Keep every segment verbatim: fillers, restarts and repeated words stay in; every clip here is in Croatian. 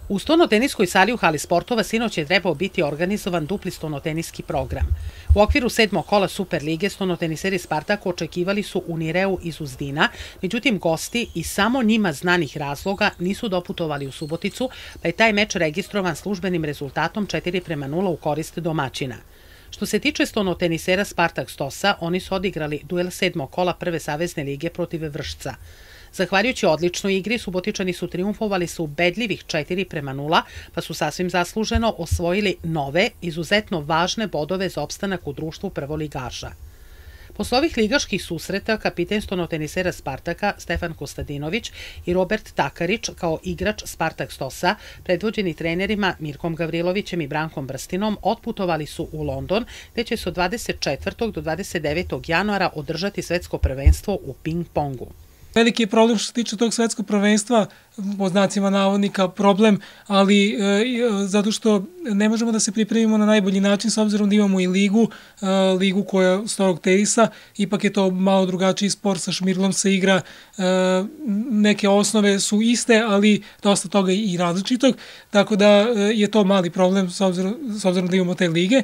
U stonoteniskoj sali u hali sportova sinoć je trebao biti organizovan dupli stonoteniski program. U okviru sedmog kola Super lige stonoteniseri Spartaka očekivali su Unireu iz Uzdina, međutim gosti iz samo njima znanih razloga nisu doputovali u Suboticu, pa je taj meč registrovan službenim rezultatom četiri prema nula u korist domaćina. Što se tiče stonotenisera Spartak Stosa, oni su odigrali duel sedmog kola Prve savezne lige protiv Vršca. Zahvaljujući odličnoj igri, Subotičani su triumfovali sa ubedljivih četiri prema nula, pa su sasvim zasluženo osvojili nove, izuzetno važne bodove za opstanak u društvu prvoligaša. Posle ovih ligaških susreta, kapiten stonotenisera Spartaka Stefan Kostadinović i Robert Takarić kao igrač Spartak Stosa, predvođeni trenerima Mirkom Gavrilovićem i Brankom Brstinom, otputovali su u London, gde će se od dvadeset četvrtog do dvadeset devetog januara održati svetsko prvenstvo u ping-pongu. Veliki je problem što se tiče tog svetskog prvenstva, po znacima navodnika problem, ali e, zato što ne možemo da se pripremimo na najbolji način s obzirom da imamo i ligu, e, ligu koja starog tenisa, ipak je to malo drugačiji sport, sa šmirglom se igra, e, neke osnove su iste, ali dosta toga i različitog, tako da je to mali problem s obzirom, s obzirom da imamo te lige.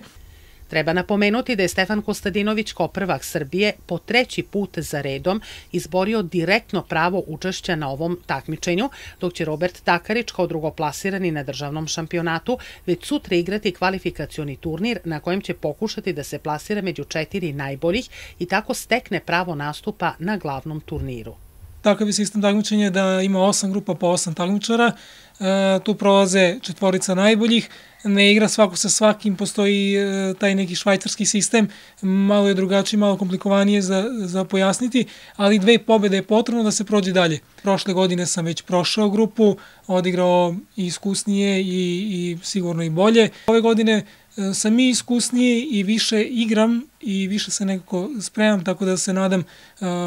Treba napomenuti da je Stefan Kostadinović kao prvak Srbije po treći put za redom izborio direktno pravo učešća na ovom takmičenju, dok će Robert Takarić kao drugoplasirani na državnom šampionatu već sutra igrati kvalifikacioni turnir na kojem će pokušati da se plasira među četiri najboljih i tako stekne pravo nastupa na glavnom turniru. Takav je sistem takmičenja da ima osam grupa po osam takmičara, e, tu prolaze četvorica najboljih, ne igra svako sa svakim, postoji e, taj neki švajcarski sistem, malo je drugačiji, malo komplikovanije za, za pojasniti, ali dve pobjede je potrebno da se prođe dalje. Prošle godine sam već prošao grupu, odigrao i iskusnije i, i sigurno i bolje. Ove godine e, sam i iskusnije i više igram i više se nekako spremam, tako da se nadam e,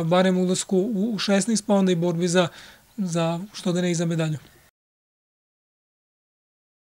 barem ulasku u šesnaest, pa onda i borbi za, za što da ne i za medalju.